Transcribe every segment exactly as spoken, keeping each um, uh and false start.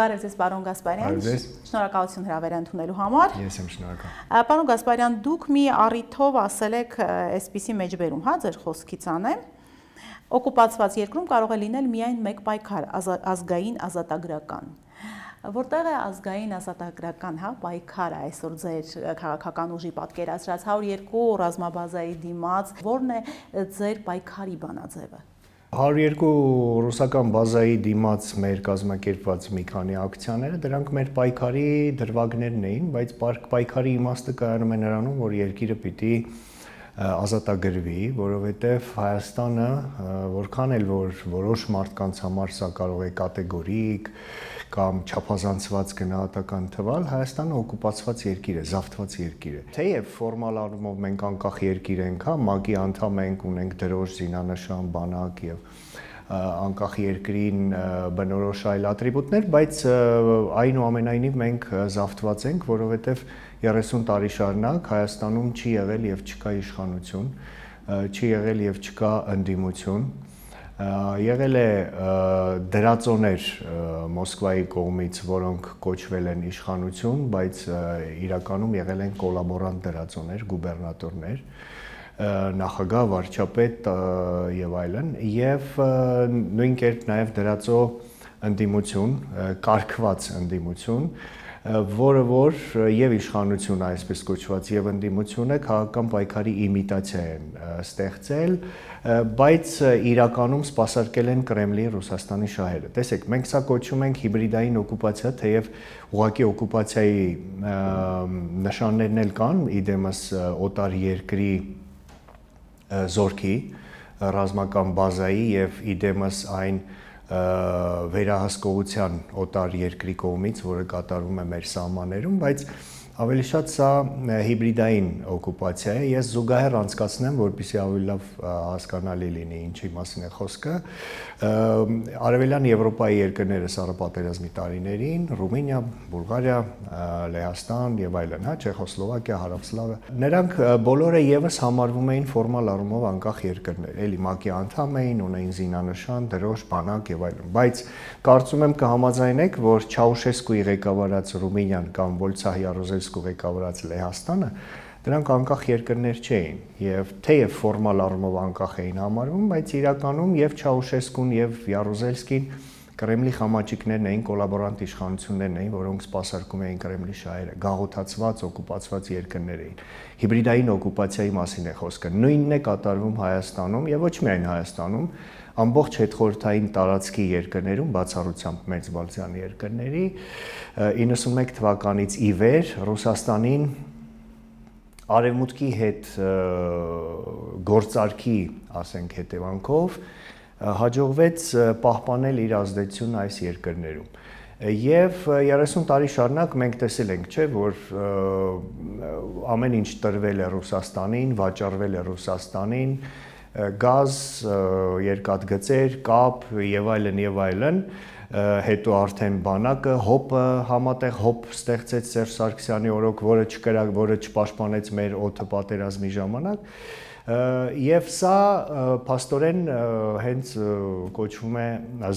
Բարև ձեզ, պարոն Գասպարյան, շնորհակալություն հրավերը ընդունելու համար։ Ես եմ շնորհակալ։ Պարոն Գասպարյան, դուք մի առիթով ասել եք այսպիսի մեջբերում, հա, ձեր խոսքից անեմ, օկուպացված երկրում կարող է լինել միայն մեկ պայքար, ազգային ազատագրական։ Որտեղ է ազգային ազատագրական, հա, պայքարը այսօր ձեր քաղաքական ուժի պատկերացրած հարյուր երկու ռազմաբազայի դիմաց, որն է ձեր պայքարի բանաձևը։ հարյուր երկու ռուսական բազայի դիմաց մեր կազմակերպված մի քանի ակցիաները, դրանք մեր պայքարի դրվագներն էին, բայց պայքարի իմաստը կայանում է նրանում, որ երկիրը պիտի ազատագրվի, որովհետև Հայաստանը, որքան էլ որ որոշ մարդկանց համար սա կարող է կատեգորիկ կամ չափազանցված գնահատական թվալ, Հայաստանը օկուպացված երկիր է, զավթված երկիր է։ Թեև ֆորմալ առումով մենք անկախ երկիր ենք, հա, ՄԱԿ-ի անդամ ենք, ունենք դրոշ, զինանշան, բանակ եւ անկախ երկրին բնորոշ այլ ատրիբուտներ, բայց այնուամենայնիվ մենք զավթված ենք, որովհետև երեսուն տարի շարունակ Հայաստանում չի եղել եւ չկա իշխանություն, չի եղել եւ չկա ընդդիմություն, եղել է դրածոներ Մոսկվայի կողմից, որոնք կոչվել են իշխանություն, բայց իրականում եղել են կոլաբորանտ դրածոներ, գուբերնատորներ, նախագահ, վարչապետ եւ այլն, եւ նույն կերպ նաեւ դրածո ընդդիմություն, կարգված ընդդիմություն, որը որ եւ իշխանությունը այսպես կոչված եւ ընդդիմությունը քաղաքական պայքարի իմիտացիա են ստեղծել, բայց իրականում սպասարկել են Կրեմլի Ռուսաստանի շահերը։ Տեսեք, մենք սա կոչում ենք հիբրիդային օկուպացիա, թեև ուղղակի օկուպացիայի նշաններն էլ կան, իդեմս օտար երկրի զորքի, ռազմական բազայի եւ իդեմս այն վերահսկողության օտար երկրի կողմից, որը կատարվում է մեր սահմաններում, բայց ավելի շատ սա հիբրիդային օկուպացիա է։ Ես զուգահեռ անցկացնեմ, որպեսզի ավելի լավ հասկանալի լինի ինչի մասին է խոսքը։ Արևելյան Եվրոպայի երկրները սառապատերազմի տարիներին, Ռումինիա, Բուլղարիա, Լեհաստան եւ այլն, հա, Չեխոսլովակիա, Հարավսլավիա, նրանք բոլորը եւս համարվում էին ֆորմալ առումով անկախ երկրներ, էլի ՄԱԿ-ի անդամ էին, ունեին զինանշան, դրոշ, բանակ եւ այլն, բայց կարծում եմ կհամաձայնեք, որ Չաուշեսկուի ղեկավարած Ռումինիան կամ Վոլցահ Յարոզելսկու ղեկավարած Լեհաստանը դրանք անկախ երկրներ չէին եւ թեև ֆորմալ առումով անկախ էին համարվում, բայց իրականում եւ Չաուշեսկուն եւ Յարոզելսկին Կրեմլի խամաճիկներն էին, կոլաբորանտ իշխանություններն էին, որոնք սպասարկում էին Կրեմլի շահերը, գաղութացված, օկուպացված երկրներ էին։ Հիբրիդային օկուպացիայի մասին է խոսքը։ Նույնն է կատարվում Հայաստանում եւ ոչ միայն Հայաստանում, ամբողջ հետխորհրդային տարածքի երկրներում, բացառությամբ Մեծ Բալթյան երկրների, իննսունմեկ թվականից ի վեր Ռուսաստանին արևմուտքի հետ գործարքի, ասենք, հետևանքով հաջողվեց պահպանել իր ազդեցությունն այս երկրներում։ Եվ երեսուն տարի շարունակ մենք տեսել ենք, չէ, որ ամեն ինչ տրվել է Ռուսաստանին, վաճառվել է Ռուսաստանին, գազ, երկաթգծեր, կապ եւ այլն եւ այլն, հետո արդեն բանակը, հոպը, համատեղ հոպ ստեղծեց Սերժ Սարգսյանի օրոք, որը չկրակ, որը չպաշտպանեց մեր օդը պատերազմի ժամանակ, եւ սա փաստորեն հենց կոչվում է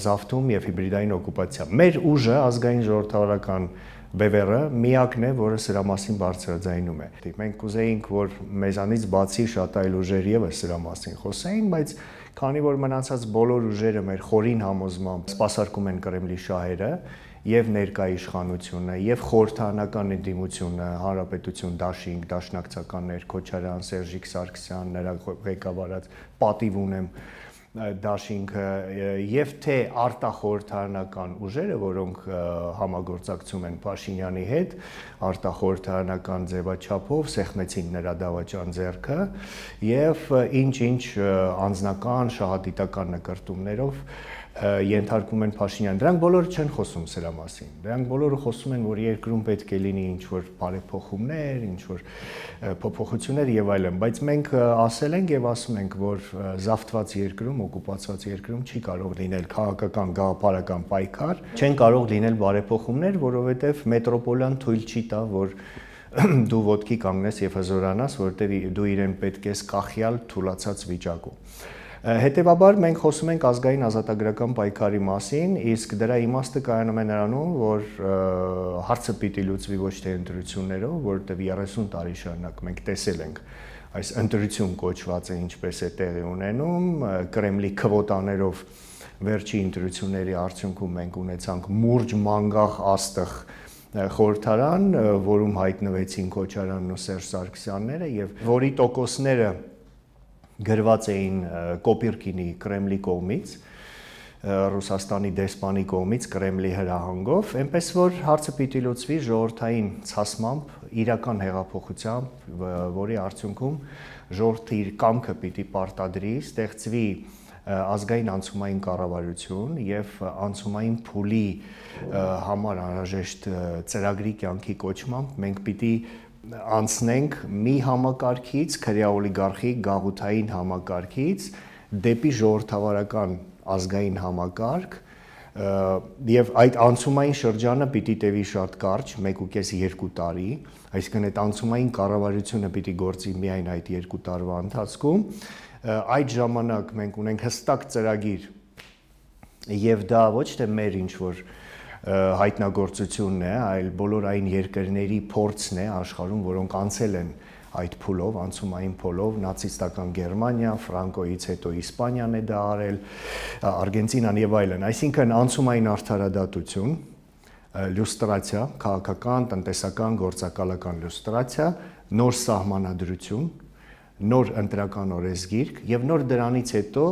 զավթում եւ հիբրիդային օկուպացիա։ Մեր ուժը, ազգային ժողովրդավարական բևեռը միակն է, որը սրա մասին բարձրաձայնում է։ Մենք կուզեինք, որ մեզանից բացի շատ այլ ուժեր եւս սրա մասին խոսեին, բայց քանի որ մնացած բոլոր ուժերը մեր խորին համոզմամբ սպասարկում են Կրեմլի շահերը եւ ներկա իշխանությունը եւ խորհրդարանական ընդդիմությունը, հանրապետություն, դաշինք, դաշնակցականներ, Քոչարյան, Սերժիկ Սարգսյան, նրա ղեկավարած պատիվ ունեմ դաշինքը եւ թե արտախորհրդարանական ուժերը, որոնք համագործակցում են Փաշինյանի հետ, արտախորհրդարանական ձևաչափով սեղմեցին նրա դավաճան ձեռքը եւ ինչ-ինչ անձնական, շահադիտական նկարտումներով ենթարկում են Փաշինյան։ Դրանք բոլորը չեն խոսում սրա մասին։ Դրանք բոլորը խոսում են, որ երկրում պետք է լինի ինչ-որ բարեփոխումներ, ինչ-որ փոփոխություններ եւ այլն, բայց մենք ասել ենք եւ ասում ենք, որ զավթված երկրում, օկուպացված երկրում չի կարող լինել քաղաքական գաղափարական պայքար, չեն կարող լինել բարեփոխումներ, որովհետեւ մետրոպոլիան թույլ չի տա, որ դու ոտքի կանգնես եւ հզորանաս, որովհետեւ դու իրեն պետք ես կախյալ թուլացած վիճակում։ Հետևաբար մենք խոսում ենք ազգային ազատագրական պայքարի մասին, իսկ դրա իմաստը կայանում է նրանում, որ հարցը պիտի լուծվի ոչ թե ընտրություններով, որովհետև երեսուն տարի շարունակ մենք տեսել ենք այս ընտրություն կոչվածը ինչպես է տեղի ունենում, Կրեմլի քվոտաներով վերջի ընտրությունների արդյունքում մենք ունեցանք մուրջ մանգաղ աստղ խորհրդարան, որում հայտնվեցին Քոչարյանն ու Սերժ Սարգսյանները եւ որի տոկոսները գրված էին Կոպիրկինի Կրեմլի կողմից, Ռուսաստանի դեսպանի կողմից Կրեմլի հրահանգով, այնպես որ հարցը պիտի լուծվի ժողովրդային ցասմամբ, իրական հեղափոխությամբ, որի արդյունքում ժողովրդի իր կամքը պիտի պարտադրի, ստեղծվի ազգային անցումային կառավարություն եւ անցումային փուլի համար անհրաժեշտ ծրագրի կյանքի կոչմամբ մենք պիտի անցնենք մի համակարգից, քրեա օլիգարխի գաղութային համակարգից դեպի ժողովրդավարական ազգային համակարգ եւ այդ անցումային շրջանը պիտի տևի շատ կարճ, մեկ ու կես երկու տարի, այսինքն այդ անցումային կառավարությունը պիտի գործի միայն այդ երկու տարվա ընթացքում, այդ ժամանակ մենք ունենք հստակ ծրագիր եւ դա ոչ թե մեր ինչ որ հայտնագործությունն է, այլ բոլոր այն երկրների փորձն է աշխարհում, որոնք անցել են այդ փուլով, անցումային փուլով, նացիստական Գերմանիա, Ֆրանկոյից հետո Իսպանիան է դա արել, Արգենտինան եւ այլն, այսինքն անցումային արդարադատություն, լյուստրացիա, քաղաքական, տնտեսական, գործակալական լյուստրացիա, նոր սահմանադրություն, նոր ընտրական օրենսգիրք եւ նոր դրանից հետո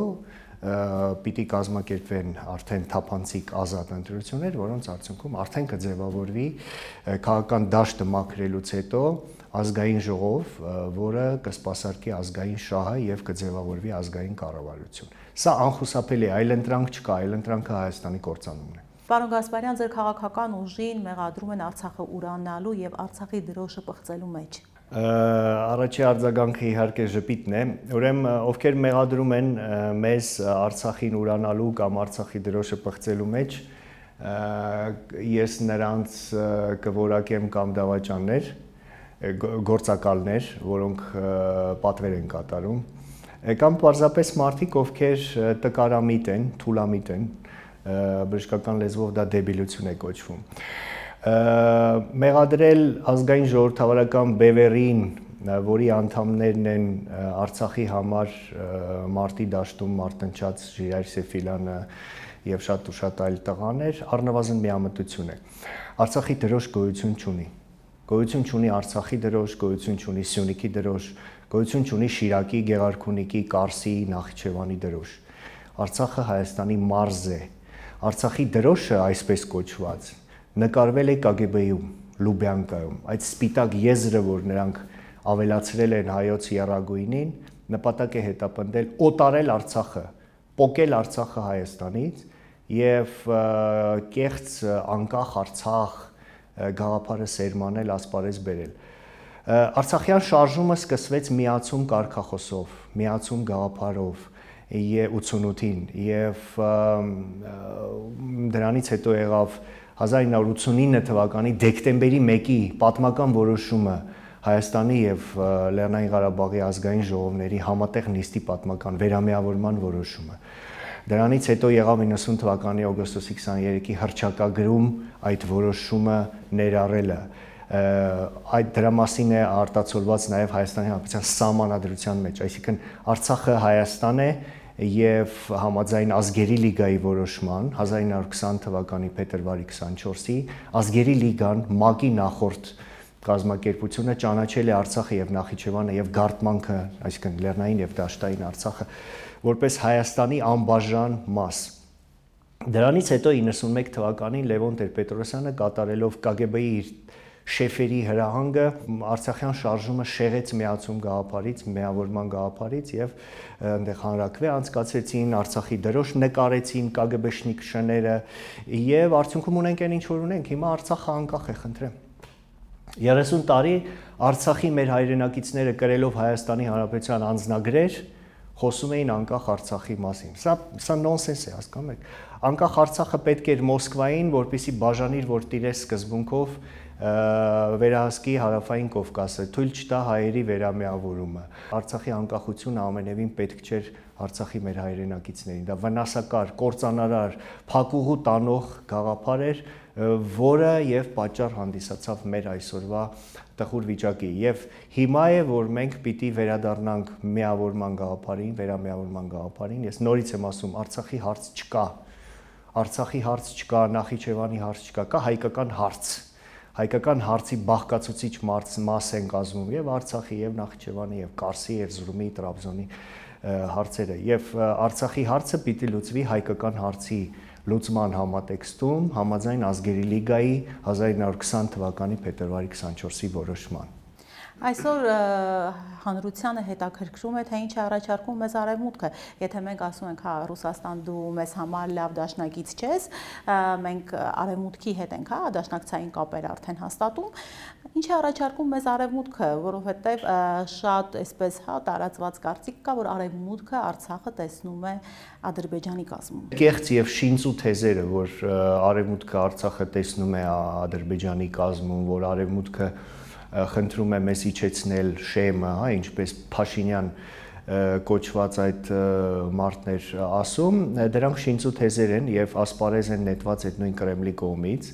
պիտի կազմակերպվեն արդեն թափանցիկ ազատ ընտրություններ, որոնց արդյունքում արդեն կձևավորվի քաղաքական դաշտը մաքրելուց հետո ազգային ժողով, որը կսպասարկի ազգային շահը եւ կձևավորվի ազգային կառավարություն։ Սա անխուսափելի է, այլընտրանք չկա, այլընտրանքը Հայաստանի կործանումն է։ Պարոն Գասպարյան, ձեր քաղաքական ուժին մեղադրում են Արցախը ուրանալու եւ Արցախի դրոշը պղծելու մեջ։ Առաջի արձագանքը իհարկե ժպիտն է, ուրեմն ովքեր մեղադրում են մեզ Արցախին ուրանալու կամ Արցախի դրոշը պղծելու մեջ, ես նրանց կորակեմ կամ դավաճաններ, գործակալներ, որոնք պատվեր են կատարում, կամ պարզապես մարդիկ, ովքեր տկարամիտ են, թուլամիտ են, բժշկական լեզվով դա դեբիլություն է կոչվում։ Մեղադրել ազգային ժողովրդավարական բևեռին, որի անդամներն են Արցախի համար մարտի դաշտում մարտնչած Ժիրայր Սեֆիլյանը եւ շատ ու շատ այլ տղաներ, առնվազն միամտություն է։ Արցախի դրոշ գոյություն չունի։ Գոյություն չունի Արցախի դրոշ, գոյություն չունի Սյունիքի դրոշ, գոյություն չունի Շիրակի, Գեղարքունիքի, Կարսի, Նախիջևանի դրոշ։ Արցախը Հայաստանի մարզ է։ Արցախի դրոշը այսպես կոչված նկարվել է Կ Գ B-ում, Լուբյանկայում, այդ սպիտակ եզրը, որ նրանք ավելացրել են հայոց եռագույնին, նպատակ է հետապնդել օտարել Արցախը, պոկել Արցախը Հայաստանից եւ կեղծ անկախ Արցախ գաղափարը սերմանել, ասպարեզ բերել։ Արցախյան շարժումը սկսվեց միացում կարգախոսով, միացում գաղափարով ութսունութին եւ դրանից հետո եղավ հազար ինը հարյուր ութսունինը թվականի դեկտեմբերի մեկի պատմական որոշումը Հայաստանի եւ Լեռնային Ղարաբաղի ազգային ժողովների համատեղ նիստի պատմական վերամիավորման որոշումը։ Դրանից հետո եղավ իննսուն թվականի օգոստոսի քսաներեքի հռչակագրում այդ որոշումը ներառելը։ Այդ դրա մասին է արտացոլված նաեւ Հայաստանի Հանրապետության սահմանադրության մեջ, այսինքն Արցախը Հայաստան է եւ համաձայն ազգերի լիգայի որոշման հազար ինը հարյուր քսան թվականի փետրվարի քսանչորսի ազգերի լիգան ՄԱԿ-ի նախորդ կազմակերպությունը ճանաչել է Արցախը եւ Նախիջևանը եւ Գարտմանքը, այսինքն Լեռնային եւ Դաշտային Արցախը որպես Հայաստանի անբաժան մաս։ Դրանից հետո իննսունմեկ թվականին Լևոն Տեր-Պետրոսյանը կատարելով Կ Գ B-ի իր շեֆերի հրահանգը Արցախյան շարժումը շեղեց միացում գաղափարից, միավորման գաղափարից եւ այնտեղ հանրակրվե անցկացրեցին, Արցախի դրոշ նկարեցին Կ Գ B-շնիկ շները եւ արդյունքում ունենք այն ինչ որ ունենք, հիմա Արցախը անկախ է, խնդրեմ։ երեսուն տարի Արցախի մեր հայրենակիցները կրելով Հայաստանի Հանրապետության անձնագրեր խոսում էին անկախ Արցախի մասին։ Սա սա նոնսենս է, հասկանում եք։ անկախ Արցախը պետք էր Մոսկվային, որպեսզի բաժանիր, որ տիրեր սկզբունքով վերահսկի հարավային Կովկասը, թույլ չտա հայերի վերամիավորումը։ Արցախի անկախությունը ամենևին պետք չէր Արցախի մեր հայրենակիցներին։ Դա վնասակար, կործանարար, փակուղու տանող գաղափար էր, որը եւ պատճառ հանդիսացավ մեր այսօրվա տխուր վիճակի։ Եվ հիմա է, որ մենք պիտի վերադառնանք միավորման գաղափարին, վերամիավորման գաղափարին։ Ես նորից եմ ասում, Արցախի հարց չկա։ Արցախի հարց չկա, Նախիջևանի հարց չկա, կա հայկական հարց։ Հայկական հարցի բաղկացուցիչ մաս են կազմում եւ Արցախի, եւ Նախիջևանի, եւ Կարսի, Էրզրումի, Տրաբզոնի հարցերը։ Եվ Արցախի հարցը պիտի լուծվի հայկական հարցի լուծման համատեքստում, համաձայն Ազգերի լիգայի հազար ինը հարյուր քսան թվականի փետրվարի քսանչորսի որոշման։ Այսօր հանրությանը հետաքրքրում է, թե ինչ է առաջարկում մեզ Արևմուտքը։ Եթե մենք ասում ենք, հա, Ռուսաստան դու մեզ համար լավ դաշնակից չես, մենք Արևմուտքի հետ ենք, հա, դաշնակցային կապեր արդեն հաստատում, ինչ է առաջարկում մեզ Արևմուտքը, որովհետև շատ այսպես, հա, տարածված կարծիք կա, որ Արևմուտքը Արցախը տեսնում է Ադրբեջանի կազմում։ Կեղծ եւ շինծու թեզերը, որ Արևմուտքը Արցախը տեսնում է Ադրբեջանի կազմում, որ Արևմուտքը խնդրում է մեզ իջեցնել շեմը, հա, ինչպես Փաշինյան կոչված այդ մարդներ ասում, դրանք շինծու թեզեր են եւ ասպարեզ են նետված այդ նույն Կրեմլի կողմից,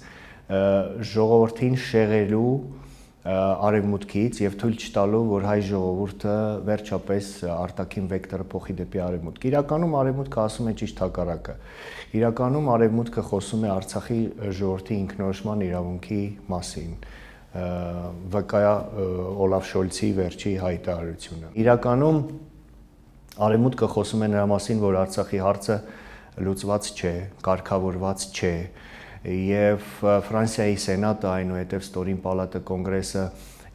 ժողովրդին շեղելու Արևմուտքից եւ թույլ չտալու, որ հայ ժողովուրդը վերջապես արտաքին վեկտորը փոխի դեպի Արևմուտք։ Իրականում Արևմուտքը ասում է ճիշտ հակառակը։ Իրականում Արևմուտքը խոսում է Արցախի ժողովրդի ինքնորոշման իրավունքի մասին։ վկայ Օլաֆ Շոլցի վերջի հայտարարությունը։ Իրականում Արևմուտքը խոսում է նրա մասին, որ Արցախի հարցը լուծված չէ, կարգավորված չէ, եւ Ֆրանսիայի Սենատը, այնուհետև Ստորին պալատը, Կոնգրեսը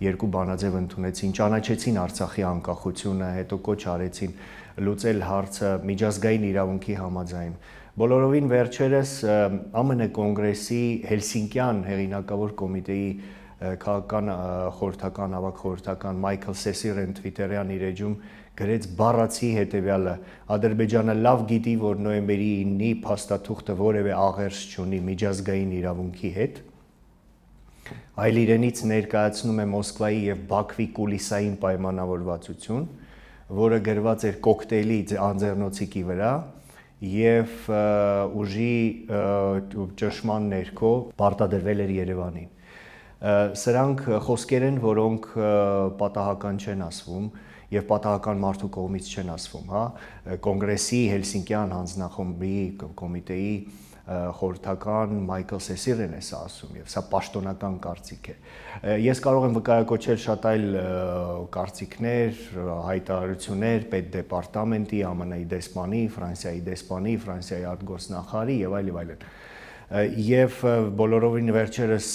երկու բանաձև ընդունեցին, ճանաչեցին Արցախի անկախությունը, հետո կոչ արեցին լուծել հարցը միջազգային իրավունքի համաձայն։ Բոլորովին վերջերս Ամն կոնգրեսի Հելսինկյան հեղինակավոր կոմիտեի քաղաքական խորհրդական ավագ խորհրդական Մայքլ Սեսիրեն Twitter-յան իր էջում գրեց բառացի հետևյալը. Ադրբեջանը լավ գիտի, որ նոյեմբերի ինը փաստաթուղթը որևէ աղերս չունի միջազգային իրավունքի հետ, այլ իրենից ներկայացնում է Մոսկվայի եւ Բաքվի կուլիսային պայմանավորվածություն, որը գրված էր կոկտեյլի անձեռնոցիկի վրա եւ ուժի ճնշման ներքո պարտադրվել էր Երևանին։ Սրանք խոսքեր են, որոնք պատահական չեն ասվում եւ պատահական մարդու կողմից չեն ասվում, հա, կոնգրեսի Հելսինկյան հանձնախմբի կոմիտեի խորհրդական Մայքլ Սեսիրեն է սա ասում եւ սա պաշտոնական կարծիք է։ Ես կարող եմ վկայակոչել շատ այլ կարծիքներ, հայտարարություններ պետդեպարտամենտի, ԱՄՆ-ի դեսպանի, Ֆրանսիայի դեսպանի, Ֆրանսիայի արտգործնախարարի եւ այլ եւ այլն։ Եվ բոլորովին վերջերս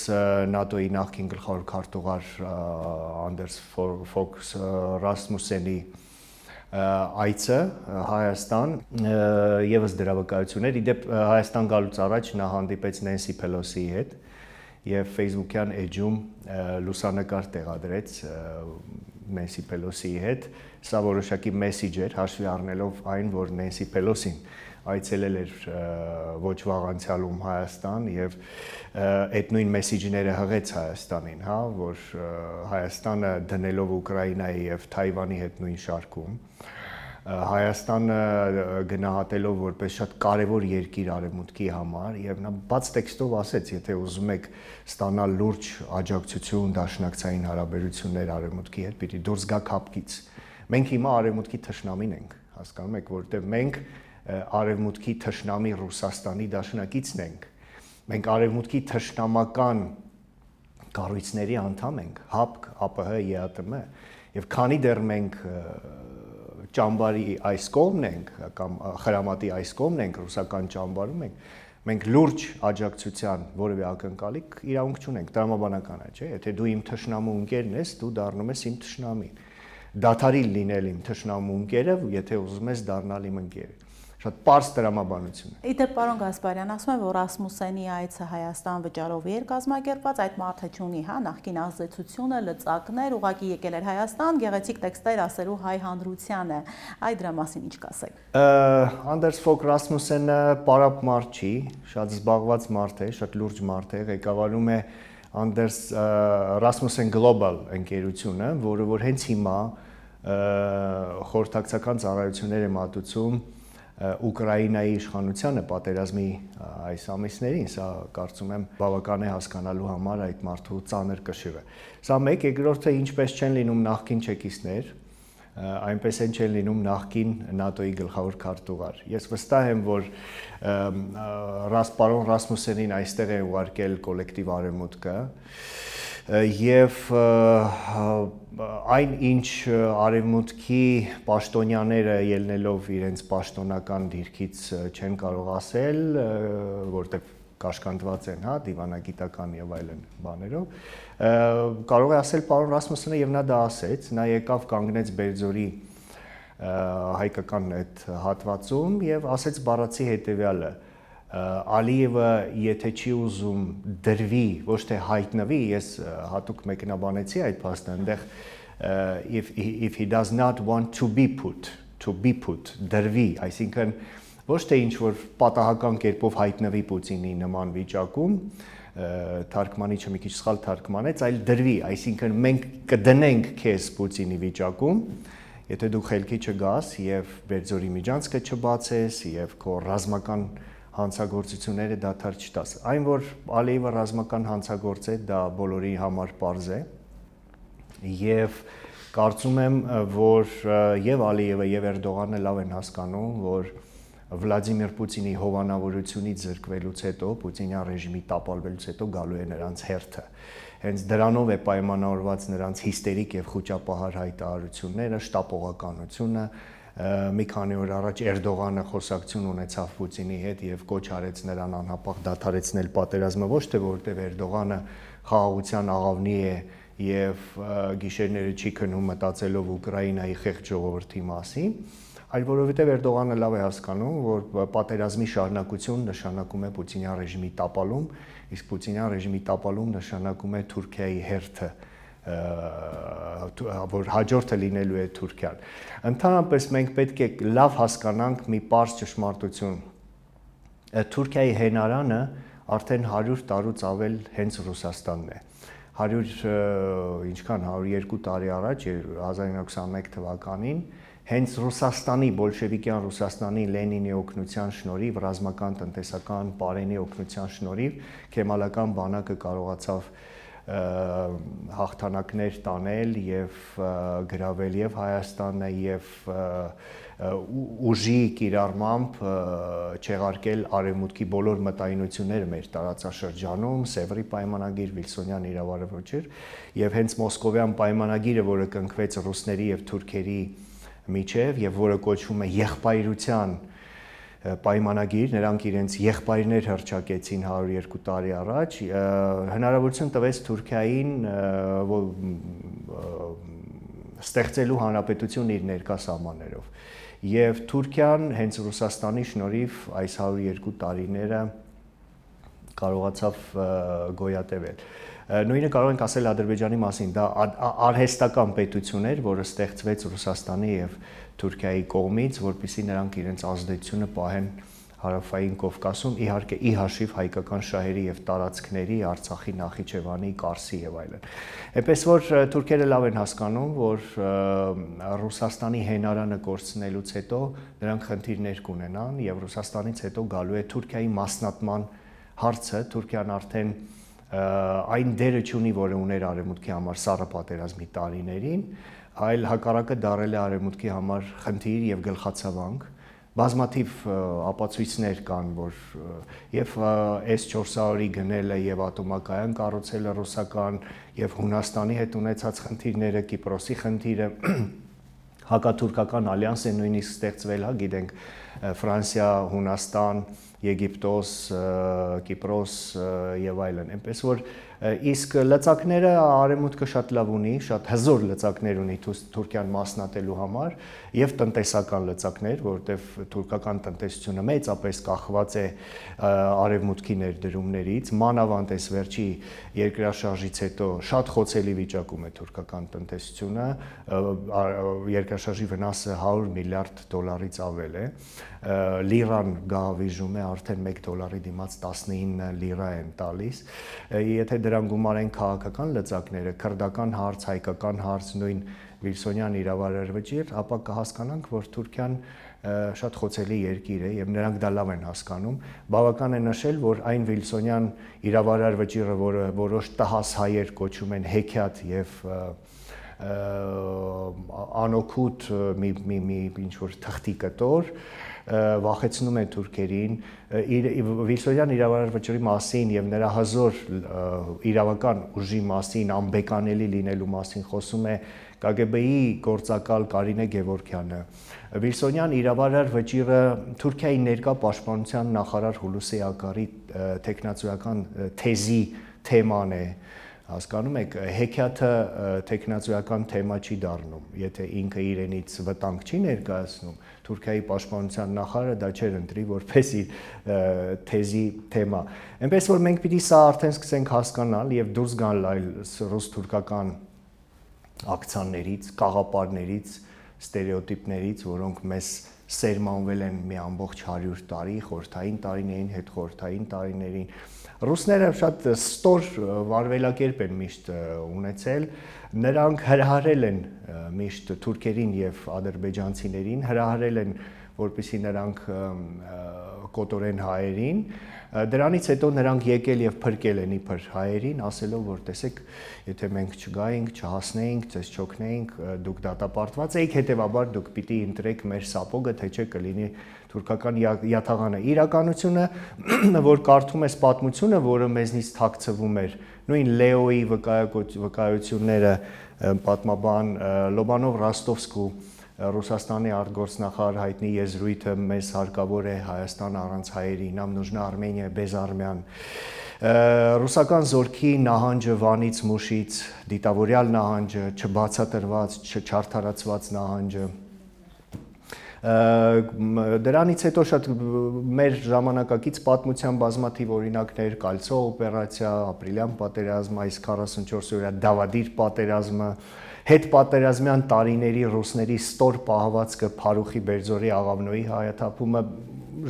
ՆԱՏՕ-ի նախկին գլխավոր քարտուղար Անդերս Ֆոքս Ռասմուսենի այցը Հայաստան եւս դրա վկայություններ։ Իդեպ Հայաստան գալուց առաջ նա հանդիպեց Նենսի Փելոսիի հետ եւ Facebook-յան էջում լուսանկար տեղադրեց Նենսի Փելոսիի հետ։ Սա որոշակի մեսեջ էր, հաշվի առնելով այն, որ Նենսի Փելոսին այցելել էր ոչ վաղ անցյալում Հայաստան եւ այդ նույն մեսեջները հղեց Հայաստանին, հա, որ Հայաստանը դնելով Ուկրաինայի եւ Թայվանի հետ նույն շարքում, Հայաստանը գնահատելով որպես շատ կարևոր երկիր Արևմուտքի համար եւ նա բաց տեքստով ասեց, եթե ուզում եք ստանալ լուրջ աջակցություն, դաշնակցային հարաբերություններ Արևմուտքի հետ, պիտի դուրս գաք հապկից։ Մենք հիմա Արևմուտքի թշնամին ենք, հասկանում եք, որտեղ մենք Արևմուտքի թշնամի Ռուսաստանի դաշնակիցն ենք։ Մենք Արևմուտքի թշնամական կառույցների անդամ ենք, ՀԱՊԿ, ԱՊՀ, ԵԱՏՄ, եւ քանի դեռ մենք ճամբարի այս կողմն ենք կամ խրամատի այս կողմն ենք, ռուսական ճամբարում ենք, մենք լուրջ աջակցության որևէ ակնկալիք իրավունք չունենք, տրամաբանական է, չէ՞, եթե դու իմ թշնամու ընկերն ես, դու դառնում ես իմ թշնամին։ Դադարի լինել իմ թշնամու ընկերը, եթե ուզում ես դառնալ իմ ընկերը։ Շատ պարզ տրամաբանություն է։ Իդեպ պարոն Գասպարյան, ասում են, որ Ռասմուսենի այցը Հայաստան վճարով էր կազմակերպված, այդ մարդը չունի, հա, նախկին ազդեցությունը, լծակներ, ուղղակի եկել էր Հայաստան, գեղեցիկ տեքստեր ասելու հայ հանրությանը։ Այդ դրա մասին ինչ կասեք։ Անդերս Ֆոգ Ռասմուսենը պարապ մարդ չի, շատ զբաղված մարդ է, շատ լուրջ մարդ է, ղեկավարում է Անդերս Rasmussen Global ընկերությունը, որը որ հենց հիմա խորհրդակցական ծառայություններ է մատուցում Ուկրաինայի իշխանությանը պատերազմի այս ամիսներին, սա կարծում եմ բավական է հասկանալու համար այդ մարդու ծանր կշիռը։ Սա մեկ, երկրորդը ինչպես չեն լինում նախկին չեկիստներ, այնպես են չեն լինում նախկին նատոյի գլխավոր քարտուղար։ Ես վստահ եմ, որ պարոն Ռասմուսենին այստեղ է ուղարկել կոլեկտիվ արևմուտքը եւ այն ինչ արևմուտքի պաշտոնյաները ելնելով իրենց պաշտոնական դիրքից չեն կարող ասել, որտեղ կաշկանդված են, հա, դիվանագիտական եւ այլն բաներով, կարող է ասել պարոն Ռասմուսենը եւ նա դա ասեց, նա եկավ կանգնեց Բերձորի հայկական այդ հատվածում եւ ասեց բառացի հետեւյալը. Ալիևը եթե չի ուզում դրվի, ոչ թե հայտնվի, ես հատուկ մեկնաբանեցի այդ փաստը, այնտեղ if if he does not want to be put, to be put, դրվի, այսինքն ոչ թե ինչ որ պատահական կերպով հայտնվի Պուտինի նման վիճակում, թարգմանիչը մի քիչ սխալ թարգմանեց, այլ դրվի, այսինքն մենք կդնենք քեզ Պուտինի վիճակում, եթե դու խելքի չգաս եւ Բերձորի միջանցքը չբացես եւ քո ռազմական հանցագործությունները դադար չտաս։ Այն, որ Ալիևը ռազմական հանցագործ է, դա բոլորի համար պարզ է եւ կարծում եմ, որ եւ Ալիևը եւ Էրդողանը լավ են հասկանում, որ Վլադիմիր Պուտինի հովանավորությունից զրկվելուց հետո, Պուտինյան ռեժիմի տապալվելուց հետո գալու է նրանց հերթը։ Հենց դրանով է պայմանավորված նրանց հիստերիկ եւ խոճապահար հայտարարությունները, շտապողականությունը, մի քանի օր առաջ Էրդողանը խոսակցություն ունեցավ Պուտինի հետ եւ կոչ արեց նրան անհապաղ դադարեցնել պատերազմը, ոչ թե որտեղ Էրդողանը խաղաղության աղավնի է եւ գիշերները չի քնում մտածելով Ուկրաինայի խեղճ ժողովրդի մասին, այլ որովհետեւ Էրդողանը լավ է հասկանում, որ պատերազմի շարունակություն նշանակում է Պուտինյան ռեժիմի տապալում, իսկ Պուտինյան ռեժիմի տապալում նշանակում է Թուրքիայի հերթը, որ հաջորդը լինելու է Թուրքիան։ Ընդհանրապես մենք պետք է լավ հասկանանք մի պարզ ճշմարտություն։ Թուրքիայի հենարանը արդեն հարյուր տարուց ավել հենց Ռուսաստանն է։ հարյուր ինչքան հարյուր երկու տարի առաջ հազար իննսուն ութանմեկ թվականին հենց Ռուսաստանի բոլշևիկյան Ռուսաստանի Լենինի օգնության շնորհիվ, ռազմական, տնտեսական, պարենի օգնության շնորհիվ քեմալական բանակը կարողացավ հաղթանակներ տանել եւ գրավել եւ Հայաստանը եւ ուժի կիրառմամբ չեղարկել արևմուտքի բոլոր մտայնությունները մեր տարածաշրջանում, Սևրի պայմանագիր, Վիլսոնյան իրավարվոճիր եւ հենց Մոսկովյան պայմանագիրը, որը կնքվեց ռուսների եւ թուրքերի միջև եւ որը կոչվում է եղբայրության պայմանագիր, նրանք իրենց եղբայրներ հռչակեցին հարյուր երկու տարի առաջ, հնարավորություն տվեց Թուրքիային ստեղծելու հանրապետություն իր ներկա սահմաններով։ Եվ Թուրքիան հենց Ռուսաստանի շնորհիվ այս հարյուր երկու տարիները կարողացավ գոյատևել։ Նույնը կարող ենք ասել Ադրբեջանի մասին, դա արհեստական պետություն էր, որը ստեղծվեց Ռուսաստանի եւ Թուրքիայի կողմից, որպեսզի նրանք իրենց ազդեցությունը պահեն հարավային Կովկասում, իհարկե ի հաշիվ հայկական շահերի եւ տարածքների, Արցախի, Նախիջևանի, Կարսի եւ այլն։ Այնպես որ թուրքերը լավ են հասկանում, որ Ռուսաստանի հենարանը կորցնելուց հետո նրանք խնդիրներ կունենան եւ Ռուսաստանից հետո գալու է Թուրքիայի մասնատման հարցը, Թուրքիան արդեն այն դերը չունի, որը ուներ արևմուտքի համար սառը պատերազմի տարիներին, այլ հակառակը դարել է արևմուտքի համար խնդիր եւ գլխացավանք, բազմաթիվ ապացույցներ կան, որ եւ էս չորս հարյուրի գնելը եւ ատոմակայան կառուցելը ռուսական եւ Հունաստանի հետ ունեցած խնդիրները, Կիպրոսի խնդիրը, հակաթուրքական ալյանս է նույնիսկ ստեղծվել, հա, գիտենք, Ֆրանսիա, Հունաստան, Եգիպտոս, Կիպրոս եւ այլն։ Այնպես որ Իսկ լծակները արևմուտքը շատ լավ ունի, շատ հզոր լծակներ ունի Թուրքիան մասնատելու համար եւ տնտեսական լծակներ, որովհետեւ թուրքական տնտեսությունը մեծապես կախված է արևմուտքի ներդրումներից, մանավանդ այս վերջի երկրաշարժից հետո շատ խոցելի վիճակում է թուրքական տնտեսությունը, երկրաշարժի վնասը հարյուր միլիարդ դոլարից ավել է, լիրան գահավիժում է, արդեն մեկ դոլարի դիմաց տասնինը լիրա են տալիս, եթե դրան գումարեն քաղաքական լծակները, քրդական հարց, հայկական հարց, նույն Վիլսոնյան իրավարարվճիռ, ապա կհասկանանք, որ Թուրքիան շատ խոցելի երկիր է եւ նրանք դա լավ են հասկանում։ Բավական է նշել, որ այն Վիլսոնյան իրավարարվճիռը, որը որոշ տհաս հայեր կոչում են հեքիաթ եւ անօգուտ մի մի մի ինչ որ թղթի կտոր, վախեցնում է թուրքերին, Վիլսոնյան իրավարարվճռի մասին եւ նրա հզոր իրավական ուժի մասին, անբեկանելի լինելու մասին խոսում է Կա Գ B-ի գործակալ Կարինե Գևորգյանը։ Վիլսոնյան իրավարարվճիռը Թուրքիայի ներկա պաշտպանության նախարար Հուլուսի Ակարի տեխնացուական թեզի թեման է, հասկանում եք, հեքիաթը տեխնացուական թեմա չի դառնում, եթե ինքը իրենից վտանգ չի ներկայացնում, Թուրքիայի պաշտպանության նախարարը դա չէր ընտրի որպես իր թեզի թեմա։ Այնպես որ մենք պիտի սա արդեն սկսենք հասկանալ եւ դուրս գալ այլ ռուս-թուրքական ակցիաներից, կաղապարներից, ստերեոտիպներից, որոնք մեզ սերմանվել են մի ամբողջ հարյուր տարի, խորհրդային տարիներին, հետխորհրդային տարիներին։ Ռուսները շատ ստոր վարվելակերպ են միշտ ունեցել, նրանք հրահարել են միշտ թուրքերին եւ ադրբեջանցիներին, հրահարել են, որպեսզի նրանք կոտորեն հայերին, դրանից հետո նրանք եկել եւ փրկել են իբր հայերին, ասելով, որ տեսեք, եթե մենք չգայինք, չհասնեինք, ցես չօգնեինք, դուք դատապարտված եք, հետեւաբար դուք պիտի ընտրեք մեր սապոգը, թե չէ կլինի թուրքական յաթաղանը։ Իրականությունը, որ կարդում ես պատմությունը, որը մեզնից թաքցվում էր, նույն Լեոյի վկայությունները, պատմաբան Լոբանով Ռոստովսկու Ռուսաստանի արտգործնախարար հայտնի եզրույթը մեզ հարկավոր է Հայաստան առանց հայերի, нам нужна Армения без армян։ Ռուսական զորքի նահանջը Վանից Մուշից, դիտավորյալ նահանջը, չբացատրված, չչարթարացված նահանջը։ Դրանից հետո շատ մեր ժամանակակից պատմության բազմաթիվ օրինակներ, Կալցո օպերացիա, ապրիլյան պատերազմ, այս քառասունչորս օրյա Դավադիր պատերազմը, հետ պատերազմյան տարիների ռուսների ստոր պահվածքը Փարուխի Բերձորի Աղավնոյի հայաթափումը,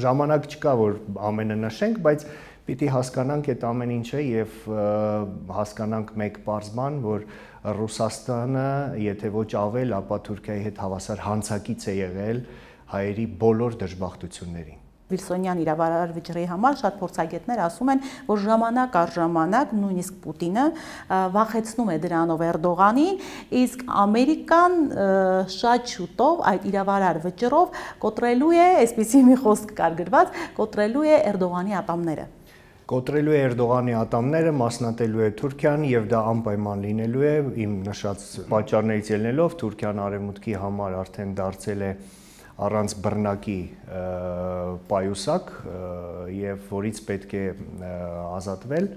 ժամանակ չկա, որ ամենը նշենք, բայց պիտի հասկանանք այդ ամեն ինչը եւ հասկանանք մեկ պարզ բան, որ Ռուսաստանը, եթե ոչ ավել, ապա Թուրքիայի հետ հավասար հանցակից է եղել հայերի բոլոր դժբախտություններին։ Վիլսոնյան իրավարարվճռի համար շատ փորձագետներ ասում են, որ ժամանակ առ ժամանակ նույնիսկ Պուտինը վախեցնում է դրանով Էրդողանին, իսկ Ամերիկան շատ շուտով այդ իրավարարվճռով կոտրելու է, այսպիսի մի խոսք կար գրված, կոտրելու է Էրդողանի ատամները։ Կոտրելու է Էրդողանի ատամները, մասնատելու է Թուրքիան եւ դա անպայման լինելու է, իմ նշած պատճառներից ելնելով Թուրքիան արևմուտքի համար արդեն դարձել է առանց բռնակի պայուսակ եւ որից պետք է ազատվել,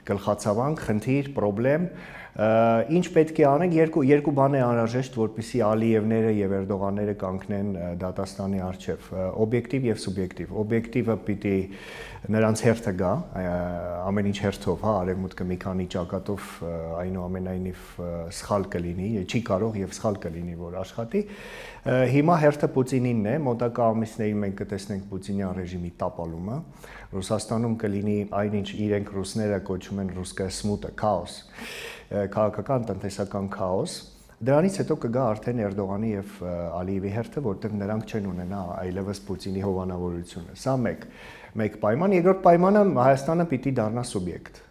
գլխացավանք, խնդիր, պրոբլեմ, ինչ պետք է անենք, երկու երկու բան է անհրաժեշտ, որպեսզի Ալիևները եւ Էրդողանները կանգնեն դատաստանի առջեւ, օբյեկտիվ եւ սուբյեկտիվ։ Օբյեկտիվը պիտի նրանց հերթը գա, ամեն ինչ հերթով, հա, արևմուտքը մի քանի ճակատով այնուամենայնիվ սխալ կլինի, չի կարող եւ սխալ կլինի, որ աշխատի։ Հիմա հերթը Պուտինինն է, մոտակա ամիսներին մենք կտեսնենք Պուտինյան ռեժիմի տապալումը, Ռուսաստանում կլինի այնինչ իրենք ռուսները կոչում են ռուսկա սմուտը, քաոս, քաղաքական, տնտեսական քաոս, դրանից հետո կգա արդեն Էրդողանի եւ Ալիևի հերթը, որտեղ նրանք չեն ունենա այլևս Պուտինի հովանավորությունը։ Սա մեկ, մեկ պայման, երկրորդ պայմանը Հայաստանը պիտի դառնա սուբյեկտ։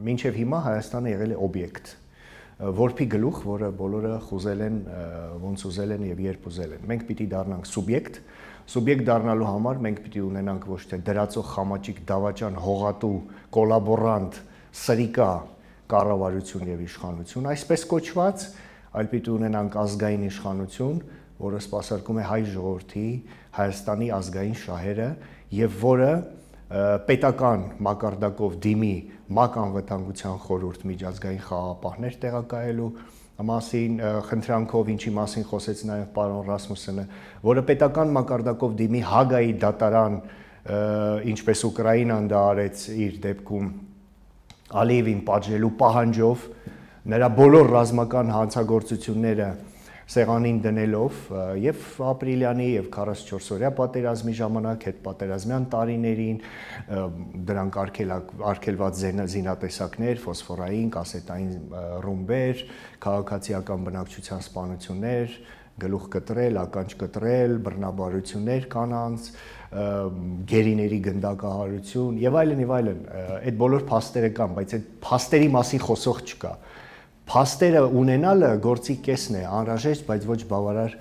Մինչեւ հիմա Հայաստանը եղել է օբյեկտ, որփի գլուխ, որը բոլորը խուզել են, ոնց ուզել են եւ երբ ուզել են։ Մենք պիտի դառնանք սուբյեկտ, սուբյեկտ դառնալու համար մենք պիտի ունենանք ոչ թե դրածող խամաճիկ դավաճան հողատու կոլաբորանտ սրիկա կառավարություն եւ իշխանություն, այսպես կոչված, այլ պիտի ունենանք ազգային իշխանություն, որը սպասարկում է հայ ժողովրդի, Հայաստանի ազգային շահերը եւ որը պետական մակարդակով դիմի ՄԱԿ անվտանգության խորհուրդ միջազգային խաղաղապահներ տեղակայելու մասին խնդրանքով, ինչի մասին խոսեց նաև պարոն Ռասմուսենը, որը պետական մակարդակով դիմի Հագայի դատարան, ինչպես Ուկրաինան դա արեց իր դեպքում Ալիևին պատժելու պահանջով, նրա բոլոր ռազմական հանցագործությունները սեղանին դնելով եւ ապրիլյանի եւ քառասունչորս օրյա պատերազմի ժամանակ հետ պատերազմյան տարիներին դրանք արգելված զինատեսակներ, ֆոսֆորային, կասետային ռումբեր, քաղաքացիական բնակչության սպանություններ, գլուխ կտրել, ականջ կտրել, բռնաբարություններ կանանց, գերիների գնդակահարություն եւ այլն եւ այլն, այդ բոլոր փաստերը կան, բայց այդ փաստերի մասին խոսող չկա։ Փաստերը ունենալը գործի կեսն է, անհրաժեշտ, բայց ոչ բավարար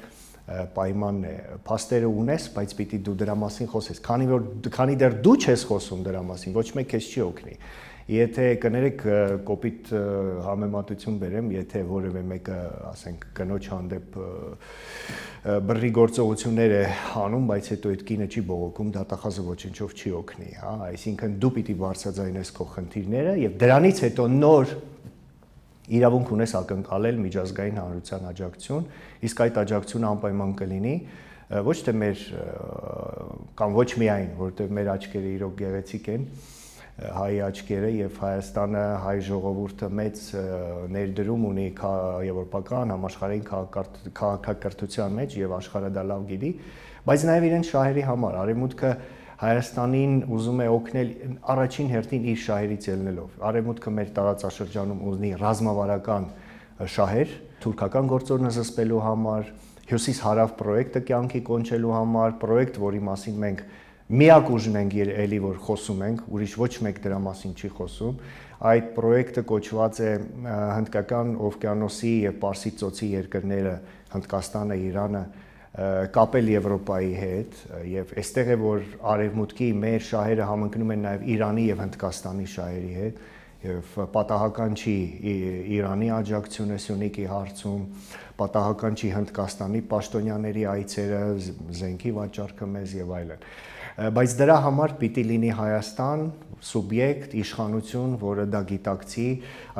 պայմանն է։ Փաստերը ունես, բայց պիտի դու դրա մասին խոսես։ Քանի որ քանի դեռ դու չես խոսում դրա մասին, ոչ մեկ քեզ չի օգնի։ Եթե կներեք կոպիտ համեմատություն բերեմ, եթե որևէ մեկը, ասենք, կնոջ հանդեպ բռի գործողություններ է անում, բայց հետո այդ կինը չի բողոքում, դատախազը ոչնչով չի օգնի, հա, այսինքն դու պիտի բարձրաձայնես քո խնդիրները եւ դրանից հետո նոր իրավունք ունես ակնկալել միջազգային հանրության աջակցություն, իսկ այդ աջակցությունը անպայման կլինի ոչ թե մեր կամ ոչ միայն, որտեղ մեր աչքերը իրոք գեղեցիկ են, հայ աչքերը եւ Հայաստանը, հայ ժողովուրդը մեծ ներդրում ունի եվրոպական համաշխարհային քաղաքակրթության մեջ եւ աշխարհը դա լավ գիտի, բայց նաեւ իրենց շահերի համար արևմուտքը Հայաստանին ուզում է օգնել առաջին հերթին իր շահերից ելնելով։ Արևմուտքը մեր տարածաշրջանում ունի ռազմավարական շահեր, թուրքական գործոնը զսպելու համար, Հյուսիս-Հարավ պրոյեկտը կյանքի կոնչելու համար, պրոյեկտ, որի մասին մենք միակ ուժն ենք էլի որ խոսում ենք, ուրիշ ոչ մեկ դրա մասին չի խոսում։ Այդ պրոյեկտը կոչված է Հնդկական օվկիանոսի եւ Պարսից ծոցի երկրները, Հնդկաստանը, Իրանը կապել Եվրոպայի հետ եւ այստեղ է որ արևմուտքի մեր շահերը համընկնում են նաեւ Իրանի եւ Հնդկաստանի շահերի հետ եւ պատահական չի Իրանի աջակցությունը Սյունիքի հարցում, պատահական չի Հնդկաստանի պաշտոնյաների այցերը, զենքի վաճառքը մեզ եւ այլն։ Բայց դրա համար պիտի լինի Հայաստան սուբյեկտ, իշխանություն, որը դա գիտակցի,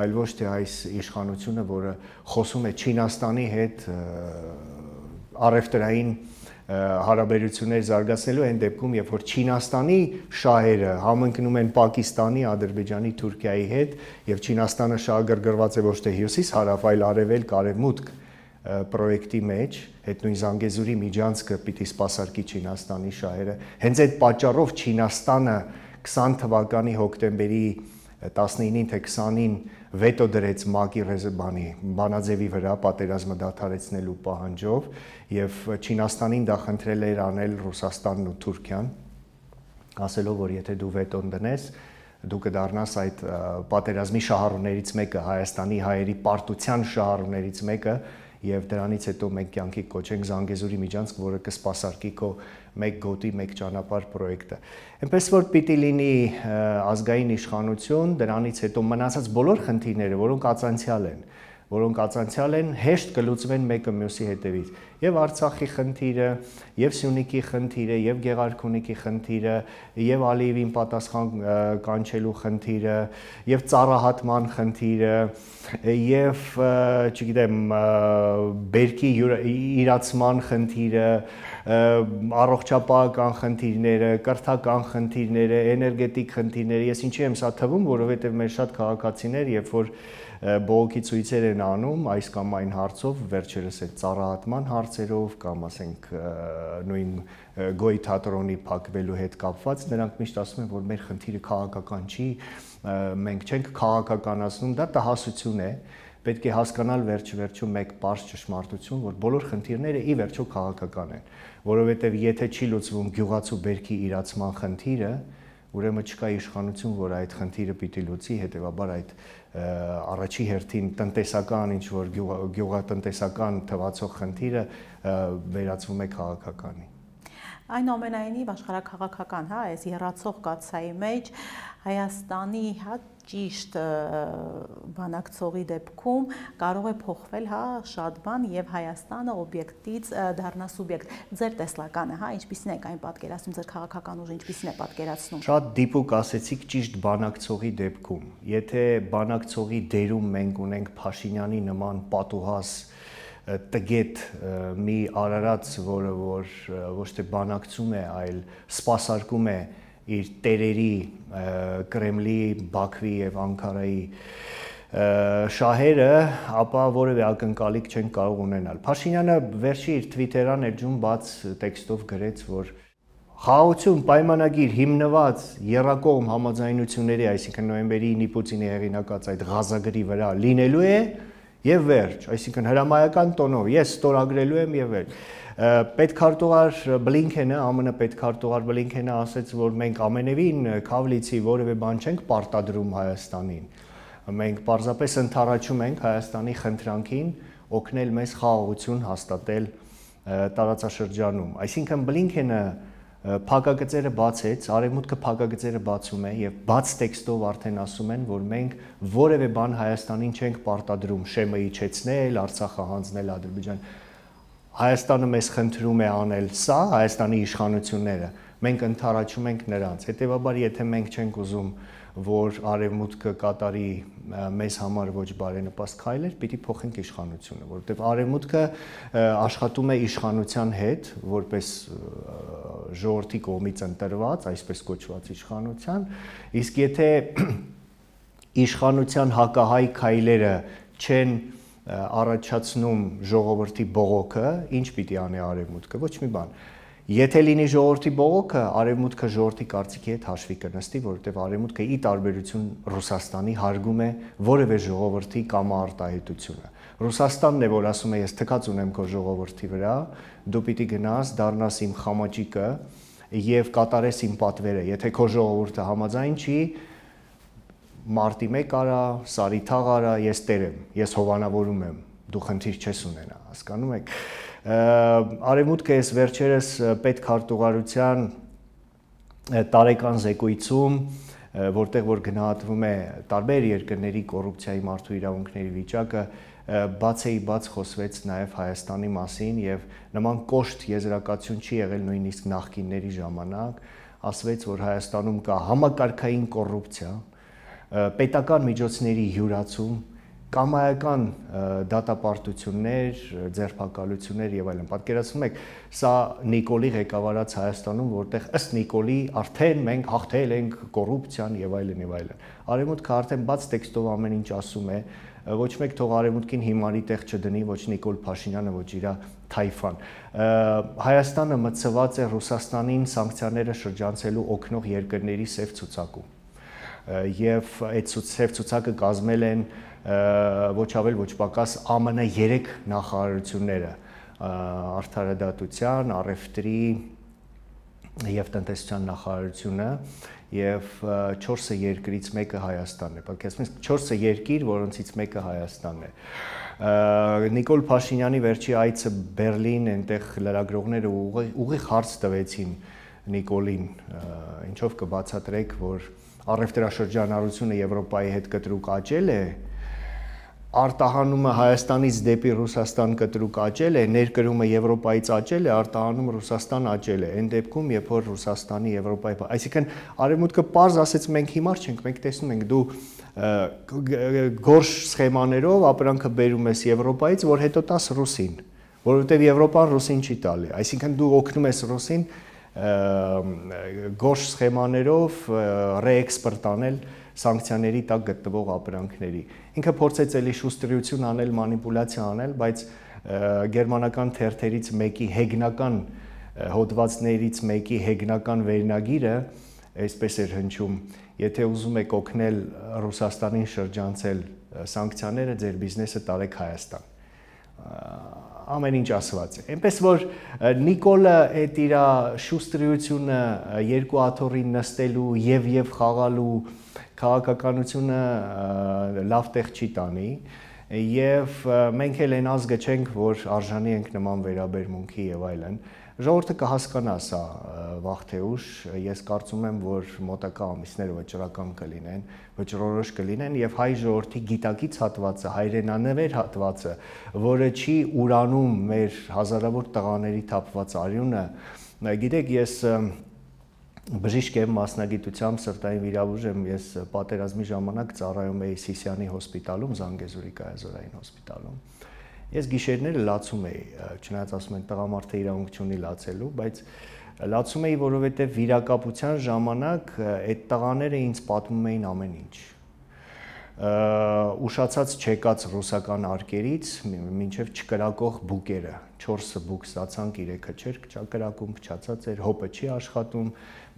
այլ ոչ թե այս իշխանությունը, որը խոսում է Չինաստանի հետ առևտրային հարաբերություններ զարգացնելու այն դեպքում, երբ որ Չինաստանի շահերը համընկնում են Պակիստանի, Ադրբեջանի, Թուրքիայի հետ, եւ Չինաստանը շահագրգռված է ոչ թե հյուսիս-հարավ, այլ արևելք, արևմուտք պրոյեկտի մեջ, այդ նույն Զանգեզուրի միջանցքը պիտի սպասարկի Չինաստանի շահերը։ Հենց այդ պատճառով Չինաստանը քսան թվականի հոկտեմբերի տասնինին թե քսանին վետո դրեց ՄԱԿ-ի ռեզերվանի բանաձևի վրա պատերազմը դադարեցնելու պահանջով եւ Չինաստանին դա խնդրել էր անել Ռուսաստանն ու Թուրքիան, ասելով որ եթե դու վետոն դնես, դու կդառնաս այդ պատերազմի շահառուներից մեկը, Հայաստանի հայերի պարտության շահառուներից մեկը եւ դրանից հետո մենք կյանքի կոչենք Զանգեզուրի միջանցք, որը կսպասարկի քո մեկ գոտի, մեկ ճանապարհ պրոյեկտը։ Այնպես որ պիտի լինի ազգային իշխանություն, դրանից հետո մնացած բոլոր խնդիրները, որոնք ածանցյալ են, որոնք ածանցյալ են, հեշտ կլուծվեն մեկը մյուսի հետևից։ Եվ Արցախի խնդիրը, եւ Սյունիքի խնդիրը, եւ Գեղարքունիքի խնդիրը, եւ Ալիևին պատասխան կանչելու խնդիրը, եւ ծառահատման խնդիրը, եւ չգիտեմ, բերքի իրացման խնդիրը, առողջապահական խնդիրները, կրթական խնդիրները, էներգետիկ խնդիրները, ես ինչի եմ սա թվում, որովհետեւ մեր շատ քաղաքացիներ, երբ որ բողոքի ցույցեր են անում այս կամ այն հարցով, վերջերս այդ ծառահատման հարցերով կամ ասենք նույն Գոյի թատրոնի փակվելու հետ կապված, նրանք միշտ ասում են, որ մեր խնդիրը քաղաքական չի, մենք չենք քաղաքականացնում, դա տհասություն է, պետք է հասկանալ վերջ-վերջում մեկ պարզ ճշմարտություն, որ բոլոր խնդիրները ի վերջո քաղաքական են, որովհետև եթե չի լուծվում գյուղացու բերքի իրացման խնդիրը, ուրեմն չկա իշխանություն, որ այդ խնդիրը պիտի լուծի, հետևաբար այդ առաջի հերթին տնտեսական ինչ որ գյուղատնտեսական թվացող խնդիրը վերածվում է քաղաքականի։ Այնուամենայնիվ աշխարհաքաղաքական, հա, այս երացող կաթսայի մեջ Հայաստանի, հա, ճիշտ բանակցողի դեպքում կարող է փոխվել, հա, շատ բան եւ Հայաստանը օբյեկտից դառնա սուբյեկտ։ Ձեր տեսլականը, հա, ինչպիսին է այն պատկերացնում, ձեր քաղաքական ուժը ինչպիսին է պատկերացնում։ Շատ դիպուկ ասեցիք ճիշտ բանակցողի դեպքում։ Եթե բանակցողի դերում մենք ունենք Փաշինյանի նման պատուհաս տգետ մի արարած, որը որ ոչ թե բանակցում է, այլ սպասարկում է իր տերերի Կրեմլի, Բաքվի եւ Անկարայի շահերը, ապա որևէ ակնկալիք չեն կարող ունենալ։ Փաշինյանը վերջի իր Twitter-ան էջում բաց տեքստով գրեց, որ խաղաղություն պայմանագիր հիմնված եռակողմ համաձայնությունների, այսինքն նոյեմբերի ինը Պուտինի հեղինակած այդ Ղազագրի վրա լինելու է եւ վերջ, այսինքն հրամայական տոնով ես ստորագրելու եմ եւ վերջ։ Պետքարտուղար Բլինքենը, ԱՄՆ պետքարտուղար Բլինքենը ասաց, որ մենք ամենևին քավլիցի որևէ բան չենք պարտադրում Հայաստանին։ Մենք պարզապես ընդառաջում ենք Հայաստանի խնդրանքին օգնել մեզ խաղաղություն հաստատել տարածաշրջանում։ Այսինքն Բլինքենը փակագծերը բացեց, արևմուտքը փակագծերը բացում է եւ բաց տեքստով արդեն ասում են, որ մենք որևէ բան Հայաստանին չենք պարտադրում Շեմը իջեցնել, Արցախը հանձնել Ադրբեջան։ Հայաստանը մեզ խնդրում է անել սա, Հայաստանի իշխանությունները, մենք ընդառաջում ենք նրանց։ Հետևաբար, եթե մենք չենք ուզում, որ արևմուտքը կատարի մեզ համար ոչ բարենպաստ քայլեր, պիտի փոխենք իշխանությունը, որովհետև արևմուտքը աշխատում է իշխանության հետ, որպես ժողովրդի կողմից ընտրված, այսպես կոչված իշխանության, իսկ եթե իշխանության հակահայ քայլերը չեն առաջացնում ժողովրդի բողոքը, ինչ պիտի անի արևմուտքը, ոչ մի բան։ Եթե լինի ժողովրդի բողոքը, արևմուտքը ժողովրդի կարծիքի հետ հաշվի կնստի, որովհետև արևմուտքը ի տարբերություն Ռուսաստանի հարգում է որևէ ժողովրդի կամարտահայտությունը։ Ռուսաստանն է, որ ասում է, ես թքած ունեմ քո ժողովրդի վրա, դու պիտի գնաս, դառնաս իմ խամաճիկը եւ կատարես իմ պատվերը։ Եթե քո ժողովուրդը համաձայն չի, մարտի մեկ արա, սարի թաղ արա, ես տեր եմ, ես հովանավորում եմ, դու խնդիր չես ունենա, հասկանում եք։ Արևմուտքը այս վերջերս պետքարտուղարության տարեկան զեկույցում, որտեղ որ գնահատվում է տարբեր երկրների կոռուպցիայի մարդու իրավունքների վիճակը, բացեի բաց խոսվեց նաև Հայաստանի մասին եւ նման կոշտ եզրակացություն չի եղել նույնիսկ նախկինների ժամանակ, ասվեց, որ Հայաստանում կա համակարգային կոռուպցիա, պետական միջոցների յուրացում, կամայական դատապարտություններ, ձերբակալություններ եւ այլն։ Պատկերացնում եք, սա Նիկոլի ղեկավարած Հայաստանում, որտեղ ըստ Նիկոլի արդեն մենք հաղթել ենք կոռուպցիան եւ այլն եւ այլն։ Արևմուտքը արդեն բաց տեքստով ամեն ինչ ասում է, ոչ մեկ թող արևմուտքին հիմարի տեղ չդնի, ոչ Նիկոլ Փաշինյանը, ոչ իր թայֆան։ Հայաստանը մտցված է Ռուսաստանին սանկցիաները շրջանցելու օգնող երկրների սև ցուցակում։ Եվ այդ սև ցուցակը կազմել են ոչ ավել ոչ պակաս ԱՄՆ երեք նախարարությունները՝ արդարադատության, առևտրի եւ տնտեսության նախարարությունը եւ չորսը երկրից մեկը Հայաստանն է։ Պատկերացնում եք, չորսը երկիր, որոնցից մեկը Հայաստանն է։ Նիկոլ Փաշինյանի վերջի այցը Բերլին, այնտեղ լրագրողները ուղիղ հարց տվեցին Նիկոլին, ինչով կբացատրեք, որ առևտրաշրջանառությունը Եվրոպայի հետ կտրուկ աճել է, արտահանումը Հայաստանից դեպի Ռուսաստան կտրուկ աճել է, ներկրումը Եվրոպայից աճել է, արտահանում Ռուսաստան աճել է։ Այն դեպքում, երբ որ Ռուսաստանի Եվրոպայի, այսինքն արևմուտքը պարզ ասեց, մենք հիմար չենք, մենք տեսնում ենք, դու գորշ սխեմաներով ապրանքը բերում ես Եվրոպայից, որ հետո տաս ռուսին, որովհետև Եվրոպան ռուսին չի տալի։ Այսինքն դու օգնում ես ռուսին գորշ սխեմաներով ռեէքսպորտ անել սանկցիաների տակ գտնվող ապրանքների։ Ինքը փորձեց էլի շուստրություն անել, մանիպուլյացիա անել, բայց գերմանական թերթերից մեկի հեգնական հոդվածներից մեկի հեգնական վերնագիրը այսպես էր հնչում. եթե ուզում եք օգնել Ռուսաստանին շրջանցել սանկցիաները, ձեր բիզնեսը տարեք Հայաստան։ Ամեն ինչ ասված է։ Այնպես որ Նիկոլը այդ իր շուստրությունը երկու աթոռին նստելու եւ եւ խաղալու քաղաքականությունը լավ տեղ չի տանի եւ մենք էլ այն ազգը չենք, որ արժանի ենք նման վերաբերմունքի եւ այլն։ Ժողովուրդը կհասկանա սա, վաղ թե ուշ, ես կարծում եմ, որ մոտակա ամիսները վճռական կլինեն, վճռորոշ կլինեն եւ հայ ժողովրդի գիտակից հատվածը, հայրենանվեր հատվածը, որը չի ուրանում մեր հազարավոր տղաների թափված արյունը, գիտեք, ես բժիշկ եմ, մասնագիտությամբ սրտային վիրաբույժ եմ, ես պատերազմի ժամանակ ծառայում էի Սիսիանի հոսպիտալում, Զանգեզուրի կայազորային հոսպիտալում։ Ես գիշերները լացում էի, չնայած ասում են տղամարդը իրավունք չունի լացելու, բայց լացում էի, որովհետև վիրակապության ժամանակ այդ տղաները ինձ պատմում էին ամեն ինչ։ Ուշացած չեկած ռուսական արկերից մինչև չկրակող բուկերը, չորսը բուկ ստացանք, երեքը չէր կրակում, փչացած էր, հոպը չի աշխատում,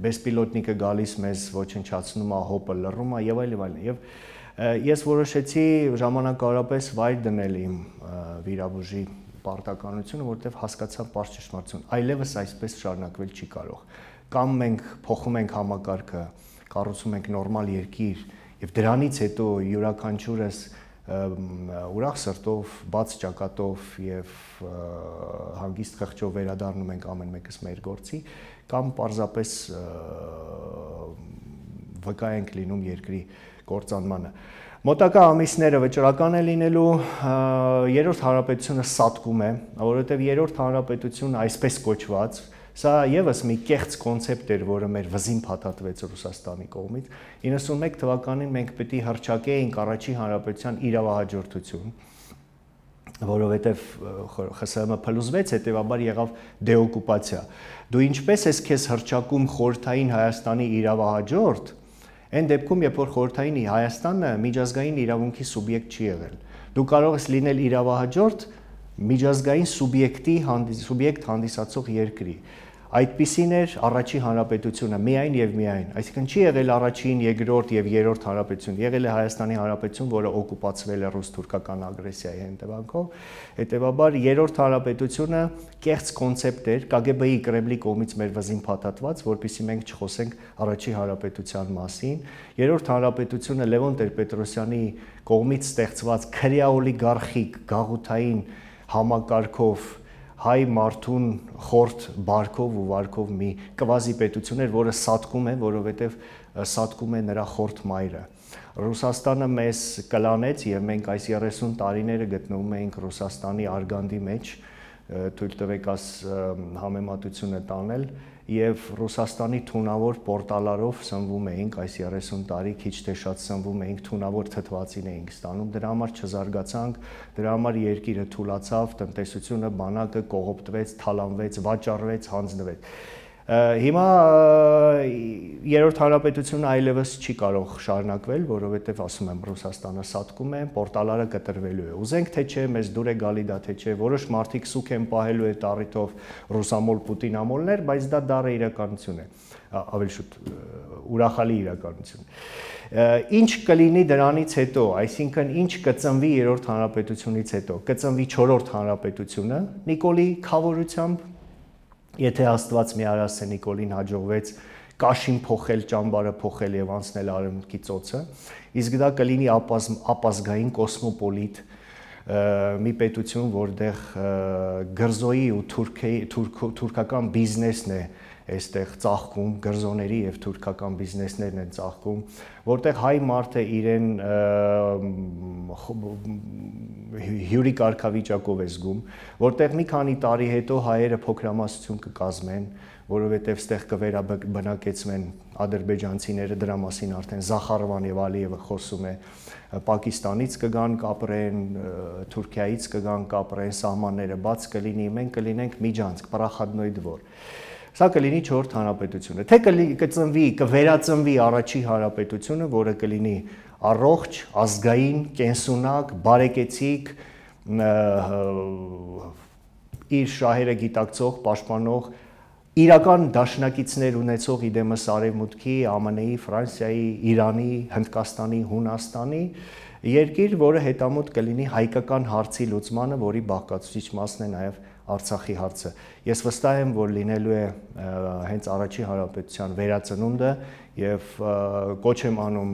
բեսպիլոտնիկը գալիս մեզ ոչնչացնում է, հոպը լռում է եւ այլն եւ այլն։ Եվ ես որոշեցի ժամանակավորապես վայր դնել իմ վիրաբույժի պարտականությունը, որովհետև հասկացա պարզ ճշմարտություն, այլևս այսպես շարունակվել չի կարող։ Կամ մենք փոխում ենք համակարգը, կառուցում ենք նորմալ երկիր, եւ դրանից հետո յուրաքանչյուրս ուրախ սրտով, բաց ճակատով եւ հանգիստ խղճով վերադառնում ենք ամեն մեկս մեր գործի, կամ պարզապես վկա ենք լինում երկրի կործանմանը։ Մոտակա ամիսները վճռական է լինելու, երրորդ հանրապետությունը սատկում է, որովհետեւ երրորդ հանրապետությունը այսպես կոչված, սա եւս մի կեղծ կոնցեպտ էր, որը մեր վզին փաթաթվեց Ռուսաստանի կողմից։ իննսունմեկ թվականին մենք պետք է հռչակեինք առաջին հանրապետության իրավահաջորդություն, որովհետև ԽՍՀՄ փլուզվեց, հետևաբար եղավ դեօկուպացիա։ Դու ինչպես ես քեզ հռչակում խորհրդային Հայաստանի իրավահաջորդ, այն դեպքում, երբ որ խորհրդային Հայաստանը միջազգային իրավունքի սուբյեկտ չի եղել։ Դու կարող ես լինել իրավահաջորդ միջազգային սուբյեկտի սուբյեկտ հանդիսացող երկրի։ Այդպիսին էր առաջին հանրապետությունը միայն եւ միայն, այսինքն չի եղել առաջին, երկրորդ եւ երրորդ հանրապետություն, եղել է Հայաստանի հանրապետություն, որը օկուպացվել է ռուս-թուրքական ագրեսիայի հետևանքով, հետեւաբար երրորդ հանրապետությունը կեղծ կոնցեպտ էր, ԿԳԲ-ի Կրեմլի կողմից մեր վզին փաթաթված, որպեսզի մենք չխոսենք առաջին հանրապետության մասին։ Երրորդ հանրապետությունը Լևոն Տեր-Պետրոսյանի կողմից ստեղծված քրեաօլիգարխիկ գաղութային համակարգով հայ մարդուն խորտ բարքով ու վարկով մի կվազի պետություն էր, որը սատկում է, որովհետև սատկում է նրա խորտ մայրը։ Ռուսաստանը մեզ կլանեց եւ մենք այս երեսուն տարիները գտնվում էինք Ռուսաստանի արգանդի մեջ, թույլ տվեք աս համեմատությունը տանել, եւ Ռուսաստանի թունավոր պորտալարով սնվում էինք այս երեսուն տարի, քիչ թե շատ սնվում էինք, թունավոր թթվածին էինք ստանում, դրա համար չզարգացանք, դրա համար երկիրը թուլացավ, տնտեսությունը, բանակը կողոպտվեց, թալանվեց, վաճառվեց, հանձնվեց։ Հիմա երրորդ հանրապետությունը այլևս չի կարող շարունակվել, որովհետև ասում եմ Ռուսաստանը սատկում է, պորտալարը կտրվելու է։ Ուզենք թե չէ, մեզ դուր է գալի դա թե չէ, որոշ մարդիկ սուք են պահելու այդ առիթով ռուսամոլ պուտինամոլներ, բայց դա դառը իրականություն է, ավելի շուտ ուրախալի իրականություն։ Ինչ կլինի դրանից հետո, այսինքն ինչ կծնվի երրորդ հանրապետությունից հետո, կծնվի չորրորդ հանրապետությունը Նիկոլի խավորությամբ, եթե Աստված մի արասե Նիկոլին հաջողվեց կաշին փոխել, ճամբարը փոխել եւ անցնել արևմուտքի ծոցը, իսկ դա կլինի ապազգային կոսմոպոլիտ մի պետություն, որտեղ գրզոյի ու թուրքական բիզնեսն է այստեղ ծաղկում, գրզոների եւ թուրքական բիզնեսներն են ծաղկում, որտեղ հայ մարդը իրեն հյուրի կարգավիճակով է զգում, որտեղ մի քանի տարի հետո հայերը փոքրամասնություն կկազմեն, որովհետև ստեղ կվերաբնակեցվեն ադրբեջանցիները, դրա մասին արդեն Զախարովան եւ Ալիևը խոսում է, Պակիստանից կգան կապրեն, Թուրքիայից կգան կապրեն, սահմանները բաց կլինի, մենք կլինենք միջանցք, պարախադնոյ դվոր։ Սա կլինի չորրորդ հանրապետությունը, թե կծնվի, կվերածնվի առաջի հանրապետությունը, որը կլինի առողջ, ազգային, կենսունակ, բարեկեցիկ, իր շահերը գիտակցող, պաշտպանող, իրական դաշնակիցներ ունեցող իդեմս Արևմուտքի, ԱՄՆ-ի, Ֆրանսիայի, Իրանի, Հնդկաստանի, Հունաստանի երկիր, որը հետամուտ կլինի հայկական հարցի լուծմանը, որի բաղկացուցիչ մասն է նաև Արցախի հարցը։ Ես վստահ եմ, որ լինելու է հենց առաջի հանրապետության վերածնունդը եւ կոչ եմ անում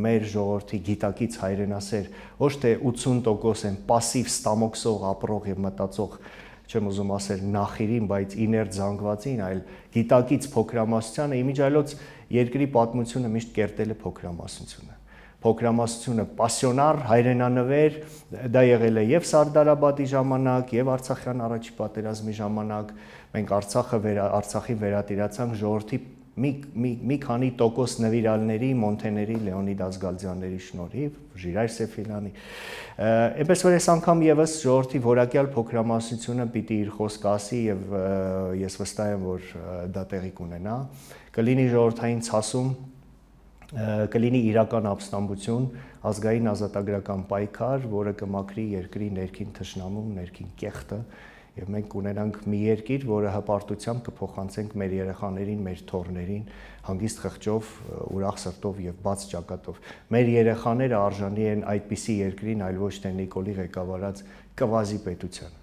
մեր ժողովրդի գիտակից հայրենասեր, ոչ թե ութսուն տոկոս են պասիվ ստամոքսող, ապրող եւ մտածող չեմ ուզում ասել նախիրին, բայց իներտ զանգվածին, այլ գիտակից փոքրամասնությանը, իմիջիայլոց երկրի պատմությունը միշտ կերտել է փոքրամասնությունը։ Փոքրամասնությունը պասիոնար, հայրենանվեր, դա եղել է եւ Սարդարաբադի ժամանակ, եւ Արցախյան առաջի պատերազմի ժամանակ։ Մենք Արցախը վերա, Արցախի վերատիրացանք ժողովրդի մի մի մի քանի տոկոս նվիրալների, Մոնթեների, Լեոնիդ Ազգալձյանների շնորհիվ, Ժիրայր Սեֆիլյանի։ Այնպես որ այս անգամ եւս ժողովրդի որակյալ փոքրամասնությունը պիտի իր խոսք ասի եւ ես վստահ եմ, որ դա տեղի կունենա։ Կլինի ժողովրդային ցասում, կլինի իրական ապստամբություն, ազգային ազատագրական պայքար, որը կմաքրի երկրի ներքին թշնամուն, ներքին կեղտը, եւ մենք կունենանք մի երկիր, որը հպարտությամբ կփոխանցենք մեր երեխաներին, մեր թոռներին, հանգիստ խղճով, ուրախ սրտով եւ բաց ճակատով։ Մեր երեխաները արժանի են այդպիսի երկրին, այլ ոչ թե Նիկոլի ղեկավարած կվազի պետության։